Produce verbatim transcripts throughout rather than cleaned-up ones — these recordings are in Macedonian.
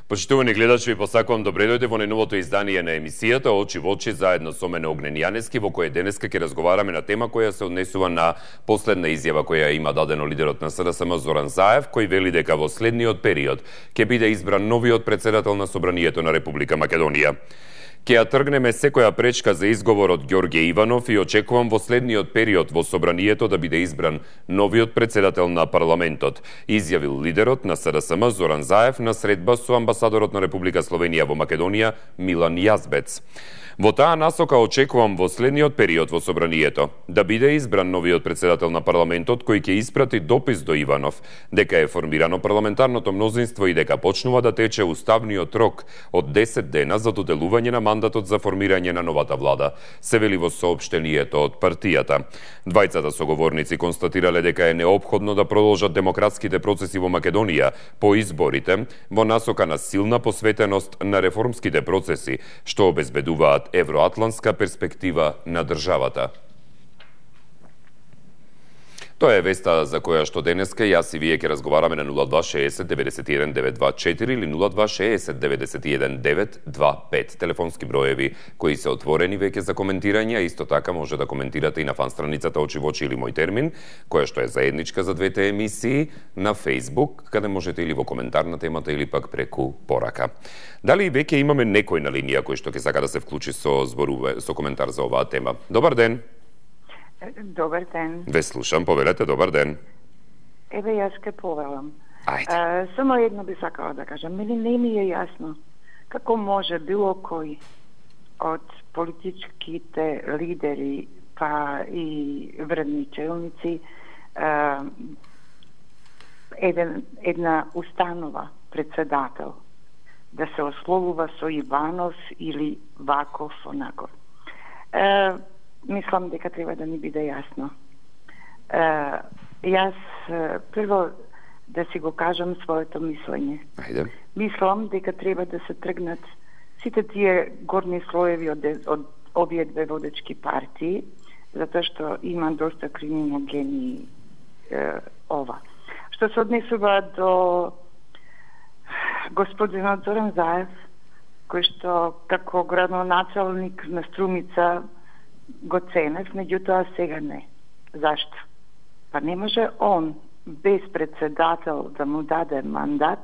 Почитувани гледачи, ви посакувам добре дојде во најновото издание на емисијата Очи во очи заедно со мене Огнен Јанески, во која денеска ќе разговараме на тема која се однесува на последна изјава која има дадено лидерот на С Д С М Зоран Заев, кој вели дека во следниот период ќе биде избран новиот претседател на Собранието на Република Македонија. Ќе ја тргнеме секоја пречка за изговор од Ѓорѓе Иванов и очекувам во следниот период во Собранието да биде избран новиот претседател на парламентот, изјавил лидерот на С Д С М Зоран Заев на средба со амбасадорот на Република Словенија во Македонија Милан Јазбец. Во таа насока очекувам во следниот период во Собранието да биде избран новиот претседател на парламентот кој ќе испрати допис до Иванов дека е формирано парламентарното мнозинство и дека почнува да тече уставниот рок од десет дена за доделување на мандатот за формирање на новата влада, се вели во соопштението од партијата. Двајцата соговорници констатирале дека е неопходно да продолжат демократските процеси во Македонија по изборите во насока на силна посветеност на реформските процеси, што обезбедуваат евроатлантска перспектива на државата. Тоа е веста за која што денеска јас и вие ќе разговараме на нула два шеесет деветдесет и еден девет два четири или нула два шеесет деветдесет и еден девет два пет. Телефонски броеви кои се отворени веќе за коментирање, исто така може да коментирате и на фан страницата Очи во очи или Мој термин, која што е заедничка за двете емисии, на Facebook, каде можете или во коментар на темата или пак преку порака. Дали веќе имаме некој на линија кој што ќе сака да се вклучи со зборуве, со коментар за оваа тема? Добар ден. Добар ден. Ве слушам, повелете, добар ден. Еве, јас ке повелам. Ајде. А, само едно би сакала да кажам. Мене не ми е јасно како може било кој од политичките лидери па и вредни челници а, еден, една установа председател да се ословува со Иванов или ваков онаков. А, Мислам дека треба да ни биде јасно. Uh, јас uh, прво да си го кажам своето мислење. Ајде. Мислам дека треба да се тргнат сите тие горни слоеви од, од овие две водечки партии, затоа што има доста криминогени uh, ова. Што се однесува до господинот Зоран Заев, кој што како градоначалник на Струмица го ценев, меѓутоа сега не. Зашто? Па не може он без председател да му даде мандат,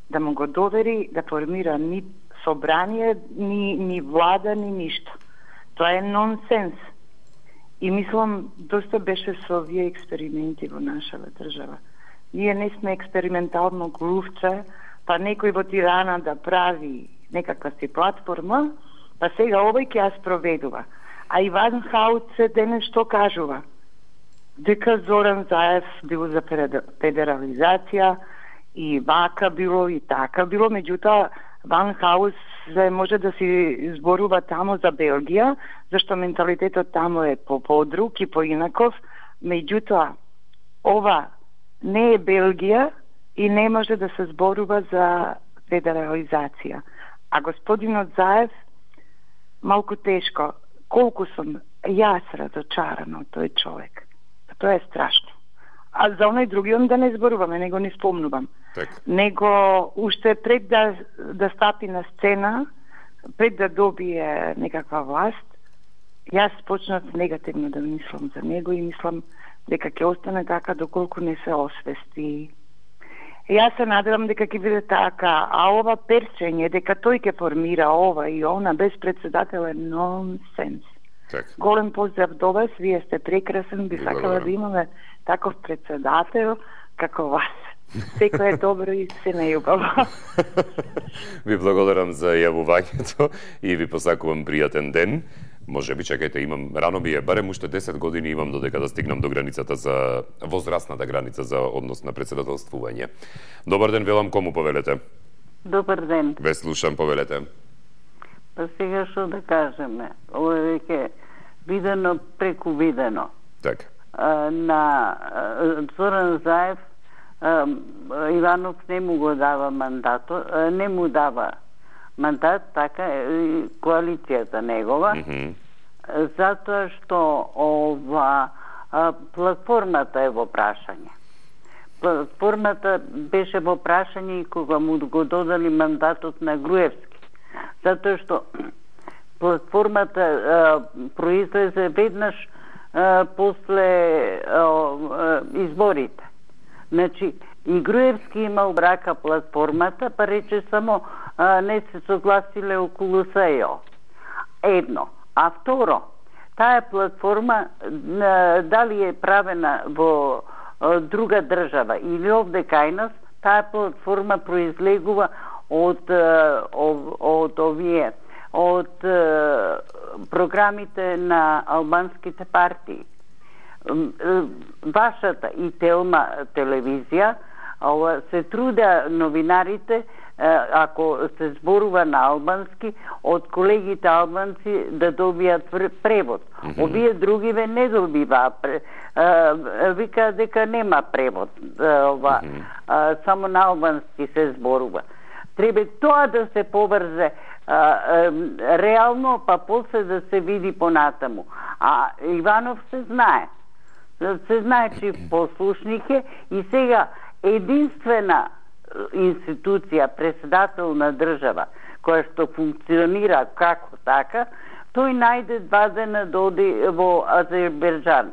да му го довери да формира ни собрание, ни, ни влада, ни ништо. Тоа е нонсенс. И мислам, доста беше со овие експерименти во нашава држава. Ние не сме експериментално глувче, па некој во Тирана да прави некаква си платформа, па сега овој ќе ја спроведува. А Иван Хауце денес што кажува? Дека Зоран Заев бил за федерализација и вака било и така било, меѓутоа Ван Хаус може да си зборува тамо за Белгија, зашто менталитетот тамо е по-подруг и поинаков, меѓутоа ова не е Белгија и не може да се зборува за федерализација. А господинот Заев малку тешко. Колку сум јас разочарана од тој човек. Тоа е страшно. А за оној другиот да не зборуваме, него не спомнувам. Так. Него уште пред да, да стапи на сцена, пред да добие некаква власт, јас почнав негативно да мислам за него и мислам дека ќе остане така доколку не се освести. Јас се надевам дека ќе биде така, а ова перчење дека тој ќе формира ова и она без председател е нонсенс. Так. Голем поздрав до вас, вие сте прекрасен, би сакала да имаме таков председател како вас. Секој е добро и се нејубаво. Ви благодарам за јавувањето и ви посакувам пријатен ден. Може би, чекајте, имам, рано ми е, барем уште десет години имам додека да стигнам до границата за, возрастната граница за однос на председателствување. Добар ден, велам, кому повелете? Добар ден. Ве слушам, повелете. Па сега што да кажеме, ово е веќе видено преку видено. Так. А, на а, Зоран Заев а, Иванов не му го дава мандато, а, не му дава мандат, така и коалицијата негова, mm -hmm. затоа што ова а, платформата е во прашање. платформата беше во прашање и кога му го додали мандатот на Груевски. Затоа што платформата а, произлезе веднаш а, после а, а, изборите. Значи, и Груевски имал брака платформата, па рече само а, не се согласиле околу СЕО. Едно. А второ, таа платформа а, дали е правена во а, друга држава или овде кај нас, таа платформа произлегува од, од, од овие од е, програмите на албанските партии. Вашата и Телма телевизија се труда новинарите, ако се зборува на албански, од колегите албанци да добијат превод. Mm-hmm. Овие другиве не добиваа. Вика дека нема превод. Ова, mm-hmm. Само на албански се зборува. Треба тоа да се поврзе а, а, реално, па после да се види понатаму. А Иванов се знае. Се знае, че послушник е и сега единствена институција, председател на држава, која што функционира како така, тој најде два дена да оди во Азербејджан.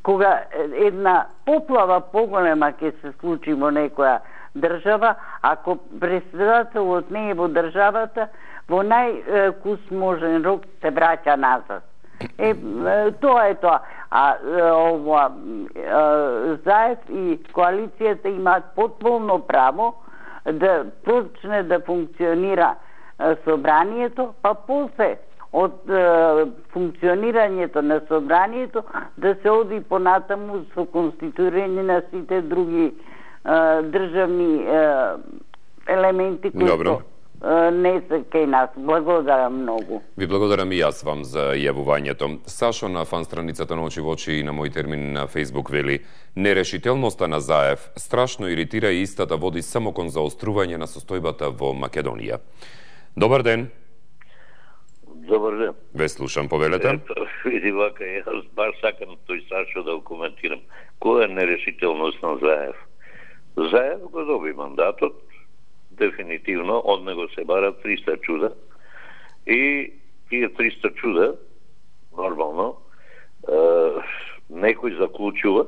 Кога една поплава поголема ќе се случи во некоја држава, ако председателот не е во државата, во најкусможен рок се враќа назад. Е, тоа е тоа. А ова Заев и коалицијата имаат потполно право да почне да функционира собранието, па после од функционирањето на собранието да се оди понатаму со конституирање на сите други државни елементи кои Добро. не се кај нас. Благодарам многу. Ви благодарам и јас вам за јавувањето. Сашо на фан страницата на Очи во очи и на мој термин на Facebook вели: нерешителноста на Заев страшно иритира и истата води само кон заострување на состојбата во Македонија. Добар ден. Добар ден. Ве слушам, повелете. Ето, види вака, јас баш сакам тој Сашо да го коментирам. Која е нерешителност на Заев? Заев го доби мандатот, дефинитивно, од него се барат триста чуда и тие триста чуда, нормално, е, некој заклучува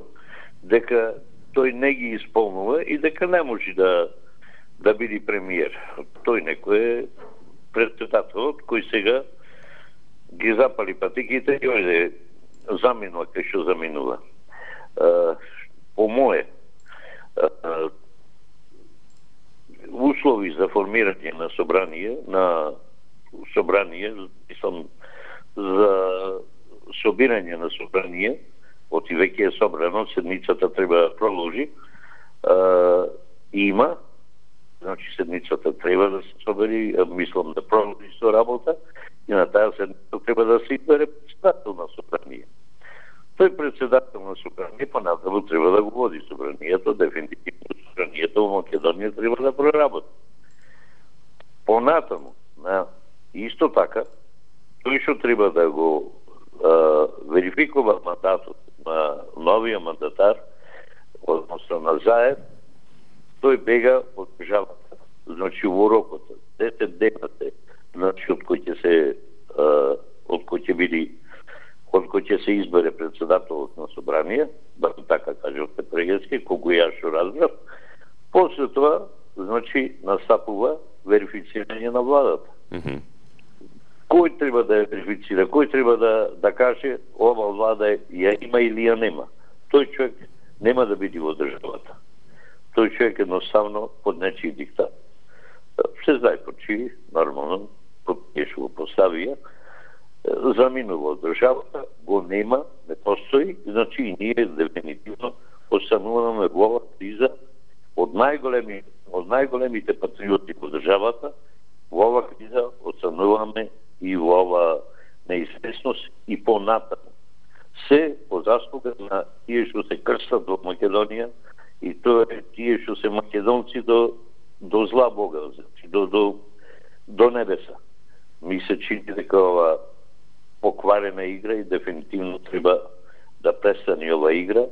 дека тој не ги исполнува и дека не може да да биде премиер. Тој некој е председателот кој сега ги запали патиките и ојде заминува кај што заминува. Е, по моје услови за формирање на собрание, на собрание, мислам, за собирање на собрание, оти веќе е собрано, седмицата треба да продолжи, има, значи седмицата треба да се собери, мислам да продолжи со работа, и на таа седмица треба да се избере председател на собрание. Тој председател на собрание, понатаму треба да го води собранието, дефинитивно собранието во Македонија треба да проработи. Понатаму, на исто така, тој што треба да го а, верификува мандатот на новиот мандатар, односно на Заев, тој бега од државата. Значи во рокот десет дена се, значи од кој ќе се а, од кој ќе биде од кој ќе се избере председателот на собрание, да така кажете прегески, колку јас што разбрав. После тоа, значи, настапува верифицирање на владата. Mm-hmm. Кој треба да ја верифицира? Кој треба да, да каже ова влада ја има или ја нема? Тој човек нема да биде во државата. Тој човек едноставно под нечи диктат. Се знае почи, нормално, што го поставија, заминува од државата, го нема, не постои, значи и ние дефинитивно остануваме во ова криза од најголеми, од најголемите патриоти во државата, во ова криза остануваме и во ова неизвестност и понатаму. Се по заслуга на тие што се крстат во Македонија и тоа е тие што се македонци до, до зла Бога, значи до, до, до небеса. Ми се чини дека ова покварена игра и дефинитивно треба да престане ова игра,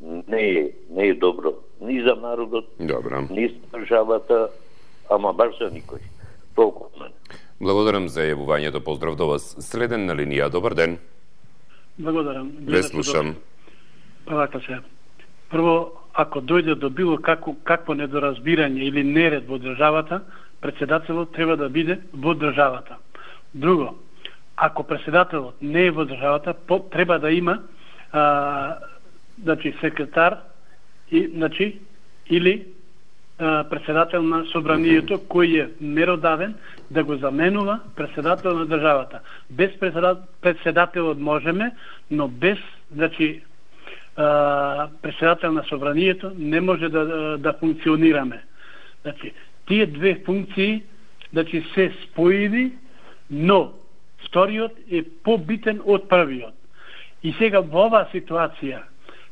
не е, не е добро ни за народот, Добра. ни за државата, ама баш за никој. Толку од мене. Благодарам за јавувањето, поздрав до вас. Следен на линија, добар ден. Благодарам. Ве слушам. Па вака се. Прво, ако дојде до било како, какво недоразбирање или неред во државата, председателот треба да биде во државата. Друго, ако председателот не е во државата, по, треба да има а, значи, секретар и, значи, или а, председател на собранието кој е меродавен да го заменува председател на државата. Без председателот можеме, но без, значи, а, председател на собранието не може да, да, да функционираме. Значи, тие две функции, значи, се споиви, но вториот е побитен од првиот. И сега во оваа ситуација,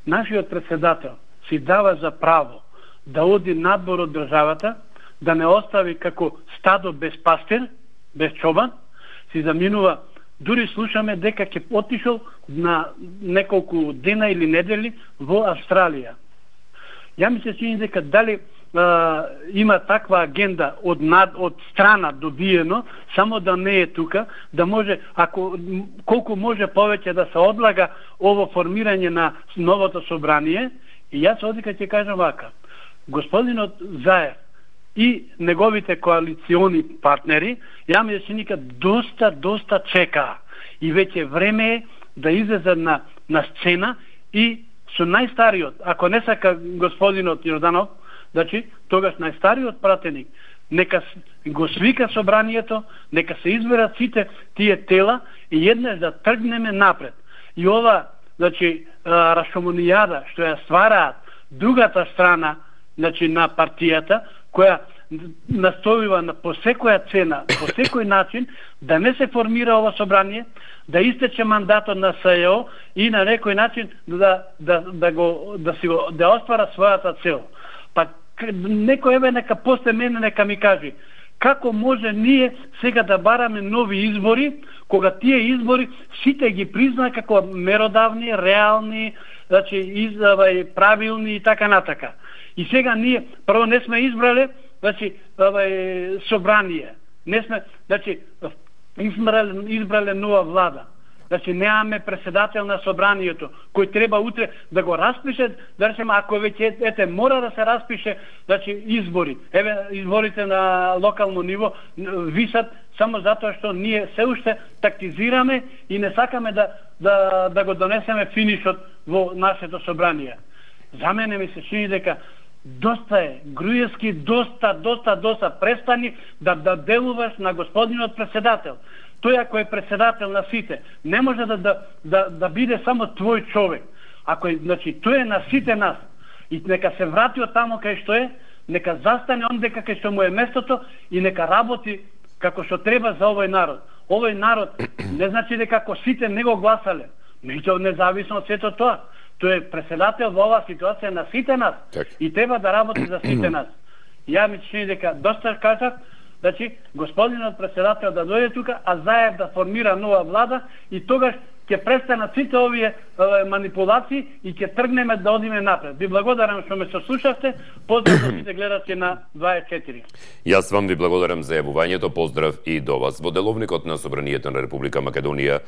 нашиот председател си дава за право да оди надвор од државата, да не остави како стадо без пастир, без чобан, си заминува. Дури слушаме дека ќе отишол на неколку дена или недели во Австралија. Ја ми се чини дека дали а, има таква агенда од, над, од страна добиено, само да не е тука, да може, ако колку може повеќе да се одлага ово формирање на новото собрание. И јас одика ќе кажам вака. Господинот Заев и неговите коалициони партнери, ја ми се ника доста, доста чека. И веќе време е да излезе на, на сцена и со најстариот, ако не сака господинот Јорданов, значи, тогаш најстариот пратеник, нека го свика собранието, нека се изберат сите тие тела и еднаш да тргнеме напред. И ова, значи, рашомонијада што ја ствараат другата страна, значи, на партијата, која настојува на по секоја цена, по секој начин да не се формира ова собрание, да истече мандатот на СЈО и на некој начин да да да го да си го да оствара својата цел. Па некој еве нека после мене нека ми кажи како може ние сега да бараме нови избори, кога тие избори сите ги призна како меродавни, реални, значи извај правилни и така натака. И сега ние прво не сме избрале, значи овај собрание. Не сме, значи избрале, избрале нова влада. Значи немаме председател на собранието кој треба утре да го распише, да речеме ако веќе ете мора да се распише, значи избори. Еве изборите на локално ниво висат само затоа што ние се уште тактизираме и не сакаме да да да го донесеме финишот во нашето собрание. За мене ми се чини дека доста е, Груевски, доста, доста, доста, престани да, да делуваш на господинот председател. Тој ако е председател на сите, не може да, да, да, да биде само твој човек. Ако е, значи, тој е на сите нас. И нека се врати од тамо кај што е, нека застане онде кај што му е местото и нека работи како што треба за овој народ. Овој народ не значи дека ако сите не го гласале, меѓутоа независно од сето тоа. Тој е председател во оваа ситуација на сите нас. Так. И треба да работи за сите нас. Ја ми чини дека доста кажав, значи господинот председател да дојде тука, а Заев да формира нова влада и тогаш ќе престанат сите овие е, манипулации и ќе тргнеме да одиме напред. Ви благодарам што ме сослушавте. Поздрав до сите гледачи на дваесет и четири. Јас вам ви благодарам за јавувањето, поздрав и до вас. Во деловникот на Собранието на Република Македонија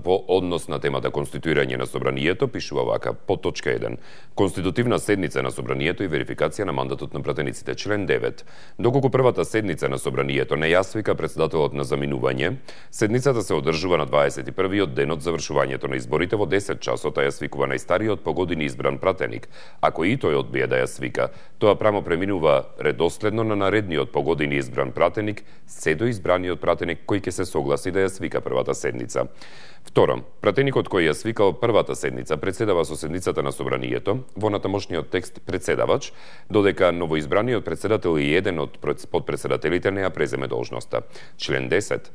по однос на темата конституирање на Собранието пишува вака по точка еден. Конститутивна седница на Собранието и верификација на мандатот на пратениците. Член девет. Доколку првата седница на Собранието не ја свика председателот на заминување, седницата се одржува на дваесет и првиот денот завршувањето на изборите во десет часот, а ја свикува најстариот по години избран пратеник. Ако и тој одбие да ја свика, тоа прамо преминува редоследно на наредниот по години избран пратеник, се до избраниот пратеник кој ќе се согласи да ја свика првата седница. Второ, пратеникот кој ја свикал првата седница председава со седницата на Собранието, во натамошниот текст председавач, додека новоизбраниот председател и еден од подпредседателите не ја преземе должноста. Член десет.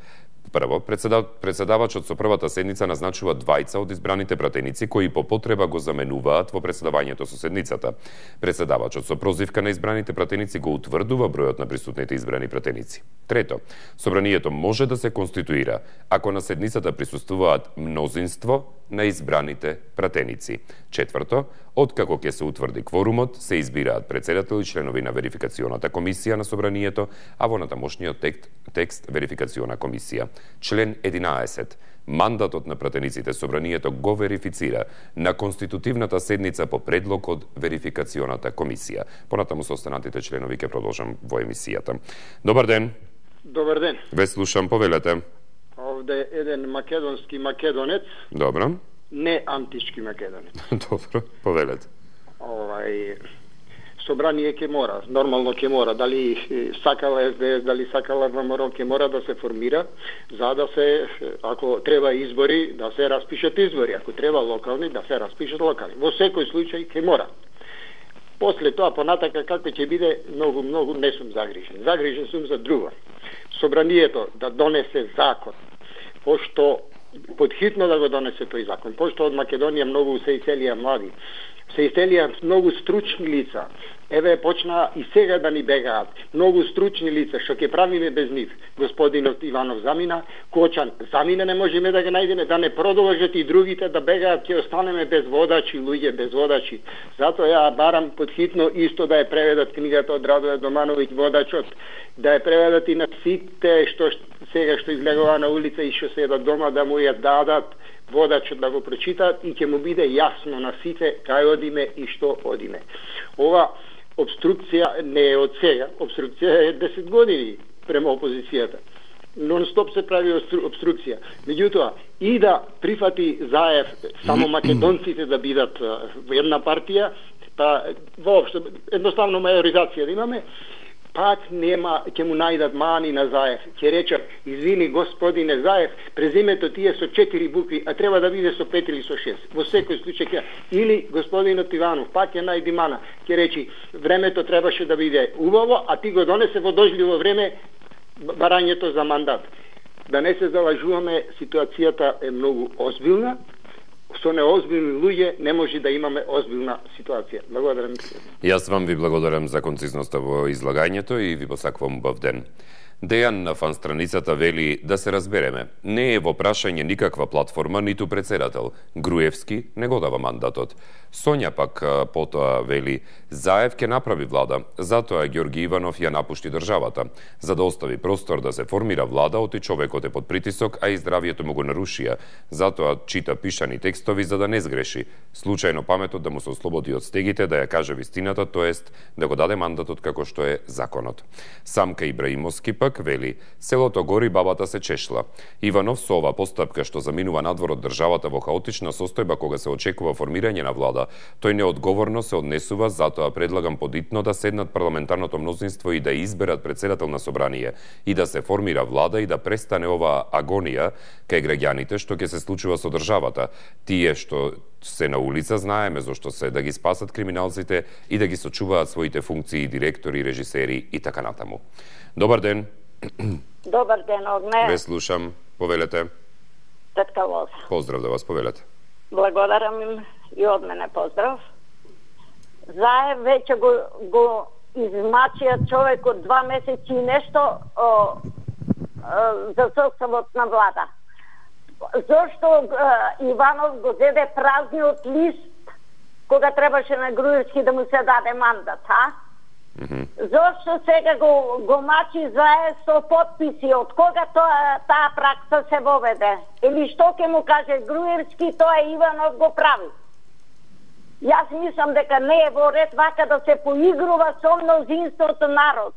Прво, председавачот со првата седница назначува двајца од избраните пратеници кои по потреба го заменуваат во председавањето со седницата. Председавачот со прозивка на избраните пратеници го утврдува бројот на присутните избрани пратеници. Трето, собранието може да се конституира ако на седницата присуствуваат мнозинство на избраните пратеници. Четврто, откако ќе се утврди кворумот, се избираат председател и членови на верификационата комисија на собранието, а во натамошниот текст, текст верификациона комисија. Член единаесет. Мандатот на пратениците собранието го верифицира на конститутивната седница по предлог од верификационата комисија. Понатаму со останатите членови ќе продолжам во емисијата. Добар ден. Добар ден. Ве слушам, повелете. Овде еден македонски македонец. Добро. Не антички македонец. Добро, повелете. Овај собрание ќе мора, нормално ќе мора, дали сакала Ес Де Ес, дали сакала ВМРО, ќе мора да се формира, за да се, ако треба избори, да се распишат избори, ако треба локални, да се распишат локални. Во секој случај ќе мора. После тоа, понатака, како ќе биде, многу, многу не сум загрижен. Загрижен сум за друго. Собранието да донесе закон, пошто подхитно да го донесе тој закон, пошто од Македонија многу се иселија млади, се иселија многу стручни лица. Еве почна и сега да ни бегаат многу стручни лица, што ќе правиме без нив. Господинот Иванов замина, Кочан замина, не можеме да ги најдеме, да не продолжат и другите да бегаат, ќе останеме без водачи, луѓе без водачи. Затоа ја барам подхитно исто да ја преведат книгата од Радоје Домановиќ Водачот, да ја преведат и на сите што сега што излегува на улица и што седат дома, да му ја дадат водачот да го прочитаат и ќе му биде јасно на сите кај одиме и што одиме. Ова обструкција не е од сега, обструкција е десет години према опозицијата. Нон-стоп се прави обструкција. Меѓутоа, и да прифати Заев само македонците да бидат во една партија, па воопшто едноставно мајоризација да имаме, пак нема, ќе му најдат мани на Заев. Ќе речат, извини господине Заев, презимето тие со четири букви, а треба да биде со пет или со шест. Во секој случај ќе, или господинот Иванов, пак ќе најди мана, ќе речи, времето требаше да биде убаво, а ти го донесе во дожливо време барањето за мандат. Да не се залажуваме, ситуацијата е многу озбилна, со неозбилни луѓе не може да имаме озбилна ситуација. Благодарам. Јас вам ви благодарам за концизноста во излагањето и ви посакувам убав ден. Дејан на фан страницата вели да се разбереме. Не е во прашање никаква платформа, ниту председател. Груевски не го дава мандатот. Сонја пак потоа вели Заев ќе направи влада, затоа Ѓорги Иванов ја напушти државата. За да остави простор да се формира влада, оти човекот е под притисок, а и здравието му го нарушија. Затоа чита пишани текстови за да не сгреши. Случајно паметот да му се ослободи од стегите, да ја каже вистината, тоест да го даде мандатот како што е законот. Самка Ибраимовски пак вели, селото гори, бабата се чешла. Иванов со ова постапка што заминува надвор од државата во хаотична состојба кога се очекува формирање на влада, тој неодговорно се однесува, затоа предлагам подитно да седнат парламентарното мнозинство и да изберат председател на собрание и да се формира влада и да престане ова агонија кај граѓаните што ќе се случува со државата. Тие што се на улица знаеме зошто се, да ги спасат криминалците и да ги сочуваат своите функции, директори, режисери и така натаму. Добар ден. Добар ден, Огне. Ве слушам, повелете. Тетка Лоза. Поздрав да вас, повелете. Благодарам им и од мене поздрав. Заев веќе го, го измачија човек од два месеци и нешто о, о, за составот на влада. Зошто о, Иванов го зеде празниот лист кога требаше на Груевски да му се даде мандат, а? Mm-hmm. Зошто сега го, го мачи Заев со подписи? Од кога тоа, таа пракса се воведе? Или што ќе му каже Груевски, тоа Иванов го прави? Јас мислам дека не е во ред вака да се поигрува со мнозинството народ.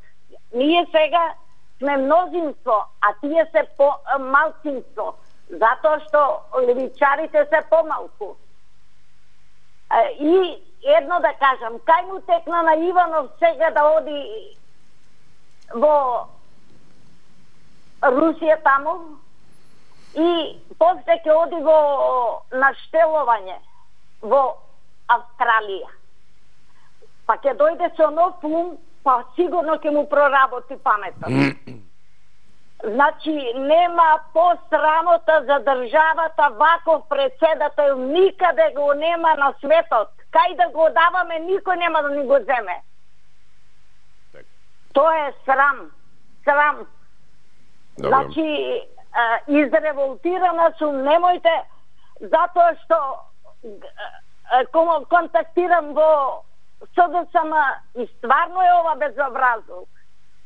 Ние сега сме мнозинство, а тие се по малцинство, затоа што левичарите се помалку. И едно да кажам, кај му текна на Иванов сега да оди во Русија таму и после ќе оди во наштелување во Австралија. Па ќе дојде со нов ум, па сигурно ќе му проработи паметот. Значи, нема посрамота за државата ваков председател, никаде го нема на светот. Кај да го даваме, никој нема да ни го земе. Тоа е срам. Срам. Добре. Значи, изреволтирана сум, немојте затоа што контактирам во СДСМ и стварно е ова безобразно.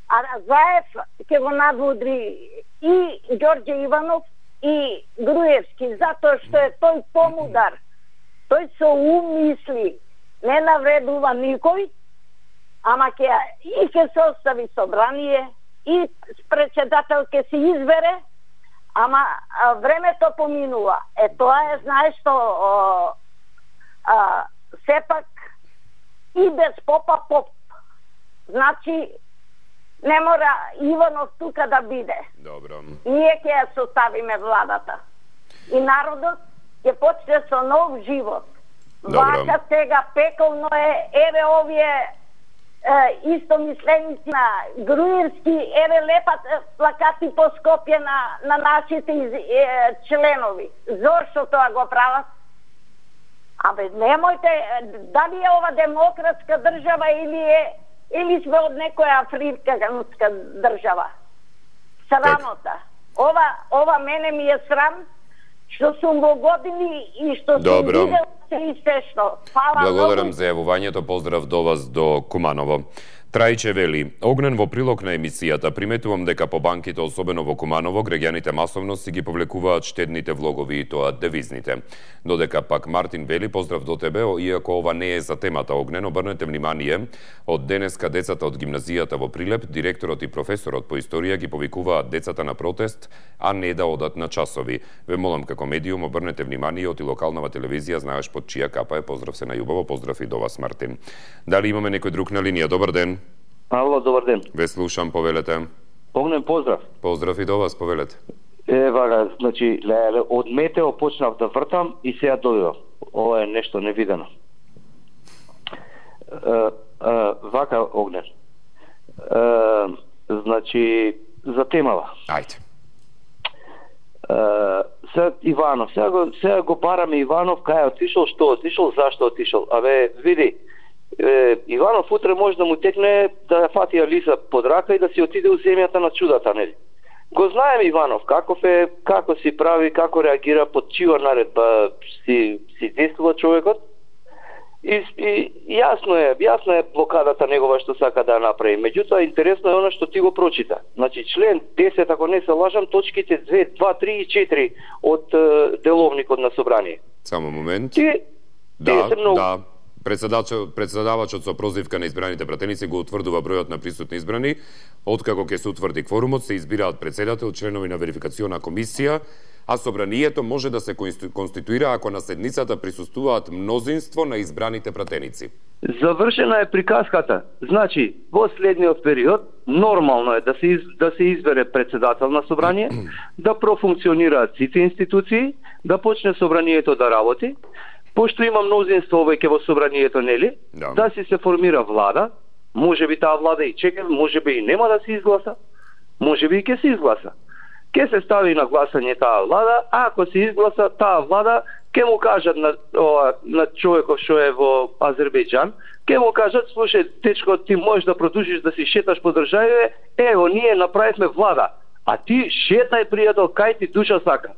А Заев ќе го надвудри и Ѓорѓе Иванов и Груевски, затоа што е тој помудар. Тој со ум мисли, не навредува никој, ама ќе и ќе се остави собрание, и председател ќе се избере, ама а, времето поминува. Е, тоа е, знаеш што, о, а, сепак и без попа поп. Значи, не мора Иванов тука да биде. Добро. Ние ќе ја составиме владата. И народот ќе почне со нов живот. Добро. Вака сега пеколно е, еве овие е, истомисленици на Груевски, еве лепат е, плакати по Скопје на, на нашите из, е, членови. Зошто тоа го прават? Абе, немојте, дали е ова демократска држава или е или сме од некоја африканска држава. Срамота. Ова, ова мене ми е срам, што сум во години и што сум видел се и се што. Фала Благодарам многу. за јавувањето, поздрав до вас до Куманово. Трајче вели, Огнен во прилог на емисијата, приметувам дека по банките, особено во Куманово, граѓаните масовно си ги повлекуваат штедните влогови и тоа девизните. Додека пак Мартин вели, поздрав до тебе, иако ова не е за темата Огнен, обрнете внимание, од денеска децата од гимназијата во Прилеп, директорот и професорот по историја ги повикуваат децата на протест, а не да одат на часови. Ве молам како медиум, обрнете внимание, од и локалнава телевизија, знаеш под чија капа е, поздрав се најубаво, поздрав и до вас, Мартин. Дали имаме некој друг на линија? Добар ден. Ало, добар ден. Ве слушам, повелете. Огнен, поздрав. Поздрав и до вас, повелете. Е, вага, значи, леле, од метео почнав да вртам и сега дојдов. Ова е нешто невидено. Е, е, вака, Огнен. Е, значи, за темава. Ајде. Е, сега Иванов, сега го, сега го бараме Иванов, кај отишол, што отишол, зашто отишол. Абе, види, Е, Иванов утре може да му текне да ја фати Алиса под рака и да си отиде у земјата на чудата, нели? Го знаем Иванов, каков е, како си прави, како реагира, под чија наредба си, си действува човекот. И, и јасно е, јасно е блокадата негова што сака да ја направи. Меѓутоа, интересно е она што ти го прочита. Значи, член десет, ако не се лажам, точките две, два, три и четири од е, деловникот на собрание. Само момент. Ти, Да, многу... да. Председавачот со прозивка на избраните пратеници го утврдува бројот на присутни избрани. Откако ќе се утврди кворумот, се избираат председател, членови на верификациона комисија, а собранието може да се конституира ако на седницата присуствуваат мнозинство на избраните пратеници. Завршена е приказката. Значи, во следниот период нормално е да се из, да се избере председател на собрание, да профункционираат сите институции, да почне собранието да работи. Пошто има мнозинство веќе во собранието, нели? Да. Да си се формира влада, може би таа влада и чека, може би и нема да се изгласа, може би и ќе се изгласа. Ќе се стави на гласање таа влада, а ако се изгласа таа влада, ќе му кажат на, о, на човекот што е во Азербејџан, ќе му кажат, слушај, дечко, ти можеш да продолжиш да си шеташ по државите, ево, ние направивме влада, а ти шетај, пријател, кај ти душа сака.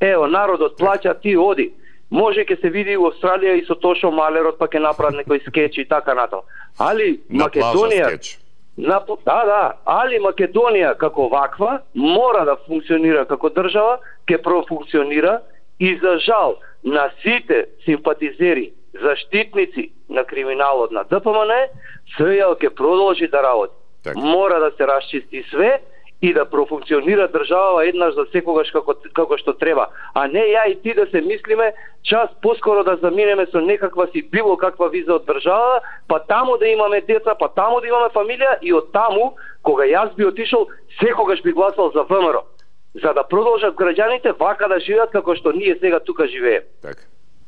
Ево, народот плаќа, ти оди. Може ќе се види у Австралија и со Тошо Малерот, па ќе направат некој скеч и така натаму. Али На Македонија, плажа скеч. на, да, да, али Македонија како ваква мора да функционира како држава, ќе профункционира и за жал на сите симпатизери, заштитници на криминалот на Д П М Н, СЈ ќе продолжи да работи. Так. Мора да се расчисти све и да профункционира држава еднаш за секогаш како, како што треба. А не ја и ти да се мислиме час поскоро да заминеме со некаква си било каква виза од држава, па таму да имаме деца, па таму да имаме фамилија и од таму, кога јас би отишол, секогаш би гласал за В М Р. За да продолжат граѓаните вака да живеат како што ние сега тука живееме. Така.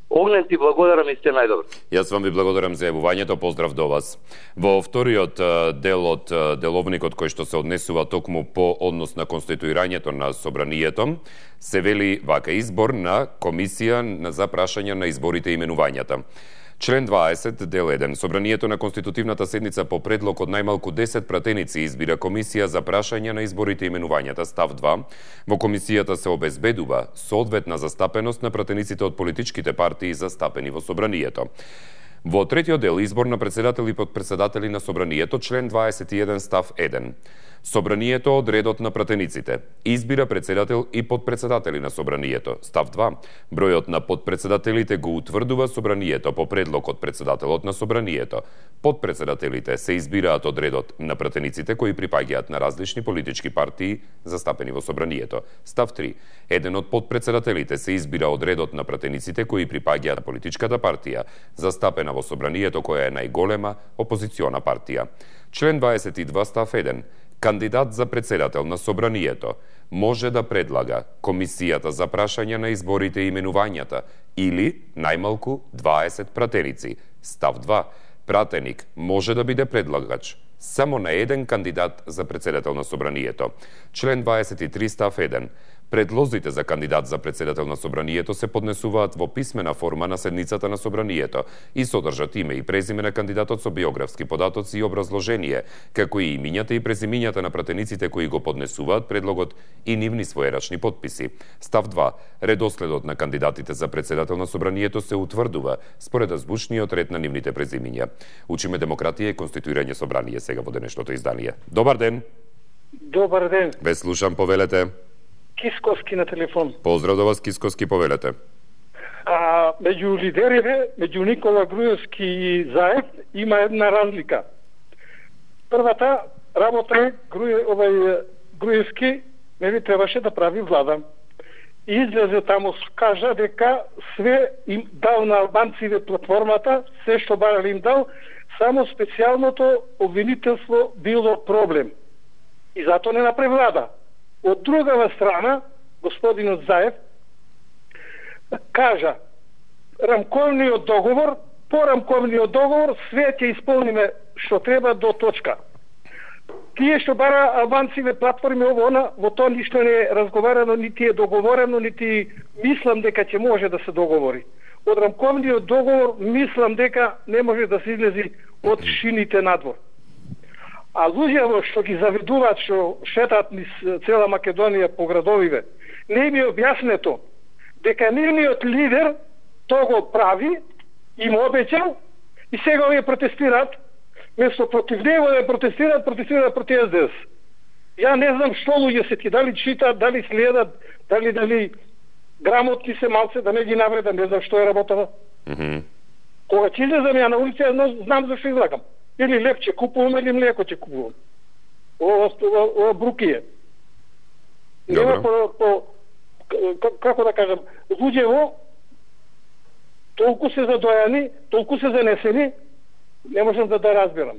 Огнен, ти благодарам и сте најдобро. Јас вам ви благодарам за јавувањето, поздрав до вас. Во вториот дел од деловникот кој што се однесува токму по однос на конституирањето на собранието, се вели вака: избор на комисија за прашање на изборите и именувањата. Член дваесет, дел еден. Собранието на конститутивната седница по предлог од најмалку десет пратеници избира комисија за прашање на изборите и именувањата. Став два. Во комисијата се обезбедува соодветна застапеност на пратениците од политичките партии застапени во собранието. Во третиот дел избор на председател и подпредседатели на собранието, член дваесет и еден став еден. Собранието од редот на пратениците избира председател и подпредседатели на собранието. Став два. Бројот на подпредседателите го утврдува собранието по предлог од председателот на собранието. Подпредседателите се избираат од редот на пратениците кои припаѓаат на различни политички партии застапени во собранието. Став три. Еден од подпредседателите се избира од редот на пратениците кои припаѓаат на политичката партија застапена во собранието која е најголема опозициона партија. Член дваесет и два став еден. Кандидат за председател на собранието може да предлага комисијата за прашање на изборите и именувањата или најмалку дваесет пратеници. Став два. Пратеник може да биде предлагач само на еден кандидат за председател на собранието. Член дваесет и три став еден. Предлозите за кандидат за председател на собранието се поднесуваат во писмена форма на седницата на собранието и содржат име и презиме на кандидатот со биографски податоци и образложение, како и имињата и презимињата на пратениците кои го поднесуваат предлогот и нивни своерачни подписи. Став два. Редоследот на кандидатите за председател на собранието се утврдува според азбучниот ред на нивните презимиња. Учиме демократија и конституирање собрание сега во денешното издание. Добар ден. Добар ден. Ве слушам, повелете. Кисковски на телефон. Поздрав до вас, Кисковски, повелете. А меѓу лидерите, меѓу Никола Груевски и Заев има една разлика. Првата работа е Груе, овај Груевски не би требаше да прави влада. И излезе таму, кажа дека све им дал на албанците платформата, се што барали им дал, само специјалното обвинителство било проблем. И затоа не направи влада. Од другава страна, господинот Заев кажа рамковниот договор, по рамковниот договор све ќе исполниме што треба до точка. Тие што бара албанциве платформи ово она, во тоа ништо не е разговарано, нити е договорено, нити мислам дека ќе може да се договори. Од рамковниот договор мислам дека не може да се излези од шините надвор. А луѓето што ги завидуваат, што шетат низ цела Македонија по градовиве, не ми е објаснето дека нивниот лидер тоа го прави, им обеќал и сега овие протестираат, место против него да протестираат, протестираат против С Д С. Ја не знам што луѓе се ти, дали читаат, дали следат, дали дали грамотни се малце, да не ги навредам, не знам што е работата. Mm -hmm. Кога ќе излезам ја на улица, ја знам зашто излакам. Или леп ќе купувам, или млеко ќе купувам. Ова, ова, ова брукие. Нема по, по, како да кажам, луѓево толку се задојани, толку се занесени, не можам да да разберам.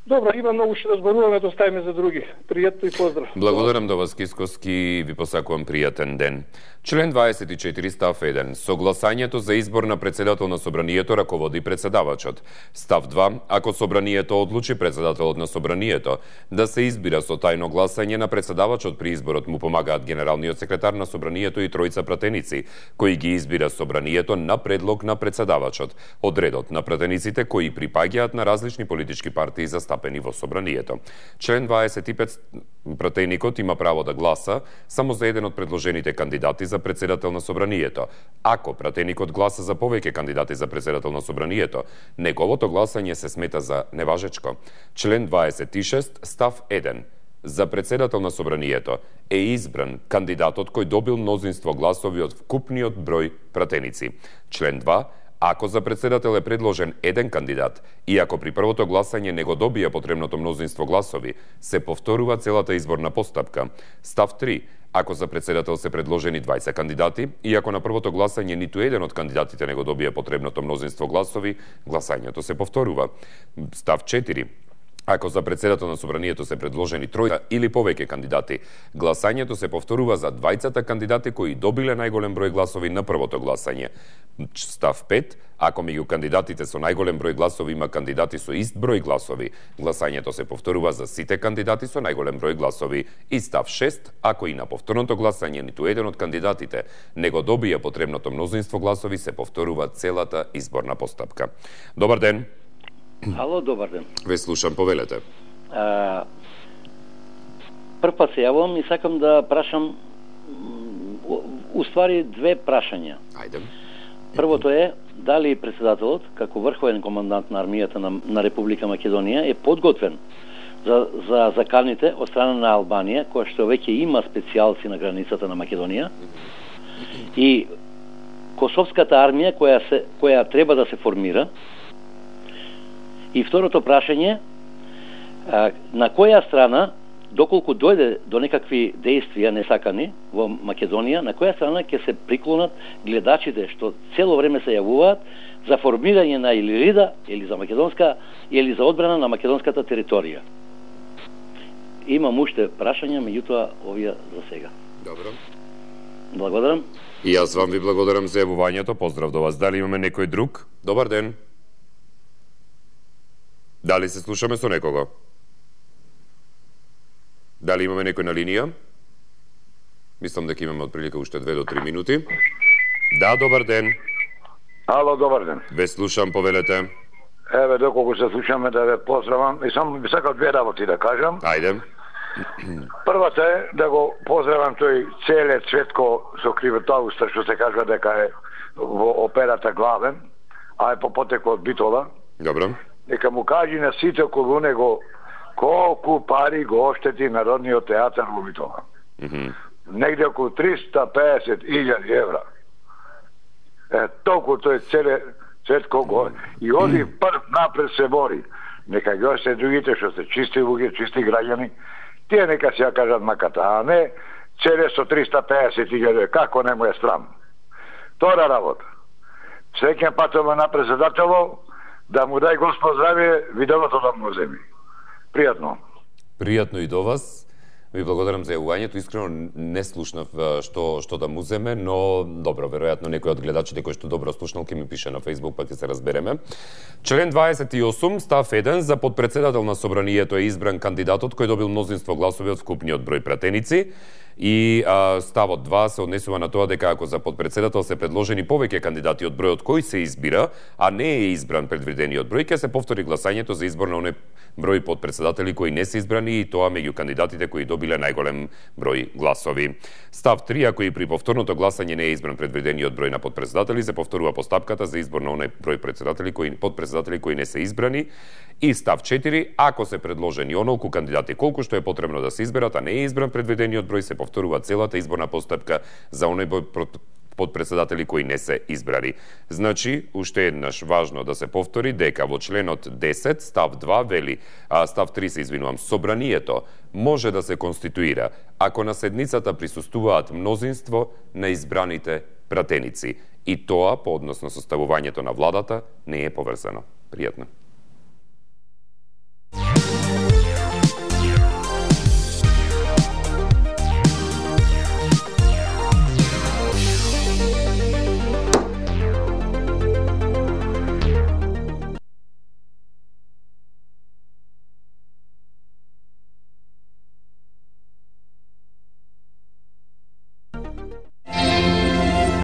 Добро, има многу што да зборуваме, да оставиме за други. Пријатно и поздрав. Благодарам до вас, Кисковски, ви посакувам пријатен ден. Член дваесет и четири став еден. Согласањето за избор на председател на собранието раководи председавачот. Став два. Ако собранието одлучи председателот на собранието да се избира со тајно гласање на председавачот при изборот, му помагаат генералниот секретар на собранието и тројца пратеници, кои ги избира собранието на предлог на председавачот, од редот на пратениците кои припаѓаат на различни политички партии застапени во собранието. Член дваесет и пет. Пратеникот има право да гласа само за еден од предложените кандидати за председател на собранието. Ако пратеникот гласа за повеќе кандидати за председател на собранието, неговото гласање се смета за неважечко. Член дваесет и шест став еден. За председател на собранието е избран кандидатот кој добил мнозинство гласови од вкупниот број пратеници. Член два. Ако за председател е предложен еден кандидат и ако при првото гласање не го добија потребното мнозинство гласови, се повторува целата изборна постапка. Став три. Ако за председател се предложени двајца кандидати и ако на првото гласање ниту еден од кандидатите не го добија потребното мнозинство гласови, гласањето се повторува. Став четири. Ако за председател на собранието се предложени тројца или повеќе кандидати, гласањето се повторува за двајцата кандидати кои добиле најголем број гласови на првото гласање. Став пет. Ако меѓу кандидатите со најголем број гласови има кандидати со ист број гласови, гласањето се повторува за сите кандидати со најголем број гласови. И став шест. Ако и на повторното гласање ниту еден од кандидатите не го добија потребното мнозинство гласови, се повторува целата изборна постапка. Добар ден. Ало, добар ден. Ве слушам, повелете. А, прв пат се јавувам и сакам да прашам уствари две прашања. Ајде. Првото е дали председателот, како врховен командант на армијата на, на Република Македонија, е подготвен за, за заканите од страна на Албанија, која што веќе има специјалци на границата на Македонија, и Косовската армија која, се, која треба да се формира. И второто прашање, на која страна, доколку дојде до некакви действија несакани во Македонија, на која страна ќе се приклонат гледачите што цело време се јавуваат за формирање на или рида, или за македонска, или за одбрана на македонската територија. Имам уште прашања, меѓутоа овие за сега. Добро. Благодарам. И јас вам ви благодарам за јавувањето. Поздрав до вас. Дали имаме некој друг? Добар ден. Дали се слушаме со некого? Дали имаме некој на линија? Мислам дека имаме отприлика уште две до три минути. Да, добар ден. Ало, добар ден. Ве слушам, повелете. Еве, доколку се слушаме да ве поздравам, и само би сакал две работи да кажам. Ајде. Првата е да го поздравам тој Целе Цветко со кривотауста, што се кажува дека е во операта главен, а е по потекло од Битола. Добро. Нека му кажи на сите околу него колку пари го оштети Народниот театар во Битола. Mm -hmm. Негде околу триста песет илјади евра. Е, толку тој Целе Цветко го и оди прв напред се бори. Нека ги още другите што се чисти луѓе, чисти граѓани, тие нека си ја кажат маката, а не Целе со триста песет илјади, како не му е страм. Втора работа. Среќен патово на председатело, да му дај Господ здравие, виделото да му земи. Пријатно. Пријатно и до вас. Ви благодарам за јавувањето. Искрено не слушнав што што да му земе, но добро, веројатно некој од гледачите кој што добро слушнал ќе ми пише на Facebook, па ќе се разбереме. Член дваесет и осум, став еден, за подпредседател на собранието е избран кандидатот кој добил мнозинство гласови од вкупниот број пратеници. И а, ставот два се однесува на тоа дека ако за подпредседател се предложени повеќе кандидати од бројот кој се избира, а не е избран предвидениот број, ќе се повтори гласањето за избор на оној број подпредседатели кои не се избрани, и тоа меѓу кандидатите кои добиле најголем број гласови. Став три, ако и при повторното гласање не е избран предвидениот број на подпредседатели, се повторува постапката за избор на оној број председатели кои подпредседатели кои не се избрани. И став четири, ако се предложени онолку кандидати колку што е потребно да се изберат, а не е избран предвидениот број, се повторува целата изборна постапка за оној број подпредседатели кои не се избрани. Значи, уште еднаш важно да се повтори дека во членот десет, став два вели, а став три се извинувам, собранието може да се конституира ако на седницата присуствуваат мнозинство на избраните пратеници. И тоа, по односно составувањето на владата, не е поврзано. Пријатно.